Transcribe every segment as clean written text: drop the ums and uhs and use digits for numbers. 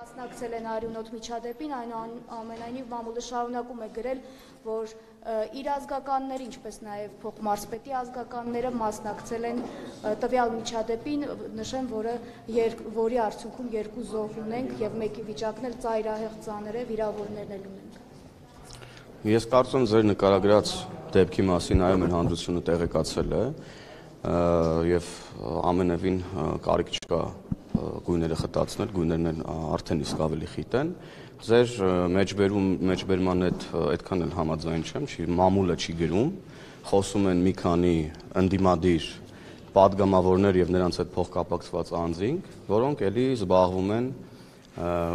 Մասնակցել են արյունոտ միջադեպին, այնուամենայնիվ մամուլը շարունակում է գրել, որ իր ազգականները, ինչպես նաև փոխմարզպետի ազգականները մասնակցել են տվյալ միջադեպին, նշեմ, որի արդյունքում 2 զոհ ունենք եւ մեկի վիճակն էլ ծայրահեղ ծանր է, վիրավորներն էլ ունենք։ Ես կարծում եմ ձեր նկարագրած դեպքի մասին այո մեր հանրությունը տեղեկացել է եւ ամենևին կարիք չկա գույները խտացնել, գույներն արդեն իսկ ավելի խիտ են։ Ձեր մեջբերման հետ այդքան էլ համաձայն չեմ, մամուլը չի գրում, խոսում են մի քանի ընդդիմադիր պատգամավորներ եւ նրանց հետ փոխկապակցված անձինք, որոնք էլի զբաղվում են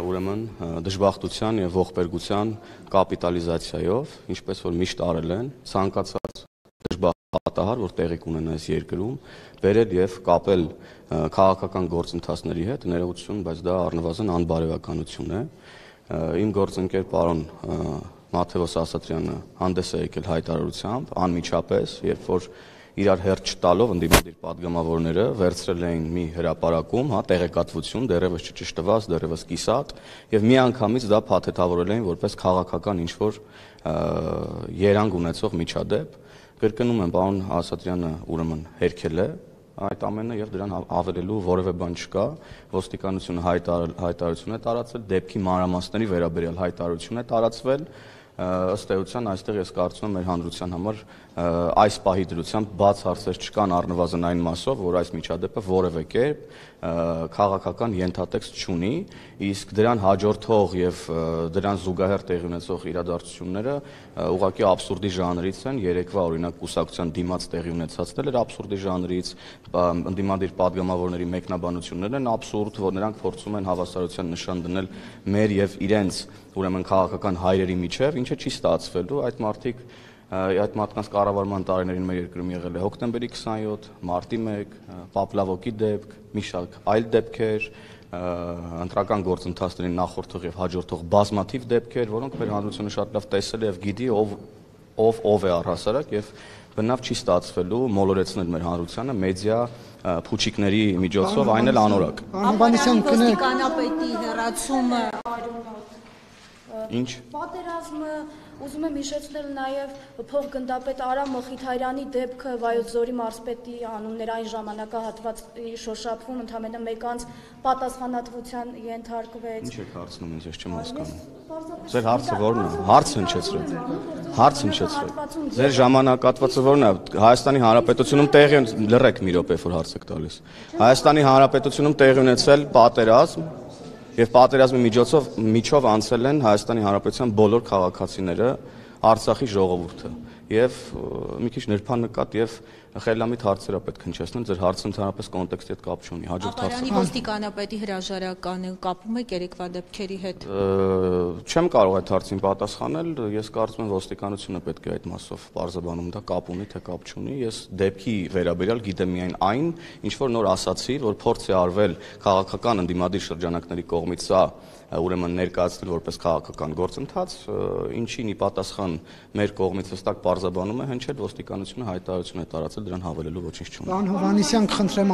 ուրեմն դժբախտության եւ ողբերգության կապիտալիզացիայով, ինչպես որ միշտ արել են, ցանկացած դժբախտահար, որ տեղի կունենա այս երկրում, վերել եւ կապել քաղաքական գործընթացների հետ ներողություն, բայց դա առնվազն անբարոյականություն է։ Իմ գործընկեր պարոն Մաթեոս Ասատրյանը հանդես է եկել հայտարարությամբ անմիջապես, երբ որ իրար հերթ չտալով ընդդիմադիր պատգամավորները վերցրել էին մի հրապարակում, տեղեկատվություն, դեռևս չճշտված, դեռևս կիսատ, եւ միանգամից դա փաթեթավորել էին որպես քաղաքական ինչ-որ երանգ ունեցող միջադեպ։ Կրկնում եմ, պարոն Ասատրյանը ուրեմն հերքել է այդ ամենը եւ դրան ավելելու որևէ բան չկա, ոստիկանությունը հայտարարություն է տարածել, դեպքի մանրամասների վերաբերյալ հայտարարություն է տարածվել, ըստ էության այստեղ ես կարծում եմ մեր հանրության համար այս պահի դրությամբ բաց հարցեր չկան առնվազն այն մասով, որ այս միջադեպը որևէ կերպ քաղաքական ենթատեքստ չունի, իսկ դրան հաջորդող եւ դրան զուգահեռ տեղի ունեցող իրադարձությունները ուղղակի աբսուրդի ժանրից են, երեկվա օրինակ կուսակցության դիմաց տեղի ունեցածն էր աբսուրդի ժանրից, ընդդիմադիր պատգամավորների մեկնաբանություններն են աբսուրդ, որ նրանք փորձում են հավասարության նշան դնել մեր եւ իրենց ուրեմն քաղաքական հայրերի միջև, ինչը չի ստացվելու, այդ մարդկանց կառավարման տարիներին մեր երկրում եղել է հոկտեմբերի 27, մարտի 1, Պապլավոկի դեպք, մի շարք այլ դեպքեր, ընտրական գործընթացներին նախորդող եւ հաջորդող բազմաթիվ դեպքեր, որոնք մեր հանրությունը շատ լավ տեսել է եւ գիտի ով է առհասարակ եւ բնավ չի ստացվելու մոլորեցնել մեր հանրությանը մեդիա փուչիկների միջոցով, այն էլ անորակ։ Ոստիկանապետի հեռացումը Ինչ? Պատերազմը, ուզում եմ հիշեցնել նաև փոխգնդապետ Արամ Մխիթարյանի դեպքը Վայոց ձորի մարզպետի անուններ այն ժամանակահատվածի շոշափվում ընդամենը մեկ անց պատասխանատվության ենթարկվեց։ Ինչ եք հարցնում ինձ, ես չեմ հասկանում։ Ձեր հարցը ո՞րն է։ Հարց հնչեցրեք։ Ձեր ժամանակահատվածը ո՞րն է։ Հայաստանի Հանրապետությունում տեղի լռեք մի րոպե, որ հարց եք տալիս։ Հայաստանի Հանրապետությունում տեղի ունեցել պատերազմ եւ պատերազմի միջով անցել են Հայաստանի Հանրապետության բոլոր քաղաքացիները, Արցախի ժողովուրդը եւ մի քիչ նրբանկատ եւ խելամիտ հարցեր է պետք հնչեցնել, ձեր հարցը ընդհանրապես կոնտեքստի հետ կապ չունի։ Հաջորդ հարցը։ Ապարանի ոստիկանապետի հրաժարականը կապում եք երեկվա դեպքերի հետ։ Չեմ կարող այդ հարցին պատասխանել, ես կարծում եմ ոստիկանությունը պետք է այդ մասով բարձրաբանում դա կապ ունի թե կապ չունի։ Ես դեպքի վերաբերյալ գիտեմ միայն այն, ինչ որ նոր ասացի, որ փորձ է արվել քաղաքական ընդդիմադիր շրջանակների կողմից սա ուրեմն ներկայացնել որպես քաղաքական գործընթաց, ինչին ի պատասխան մեր կողմից հստակ բարձրաբանում է հնչել ոստիկանությունը հայտարարություն է տարածել դրան հավելելու ոչինչ չունի։ Պարոն Հովհաննիսյան, կխնդրեմ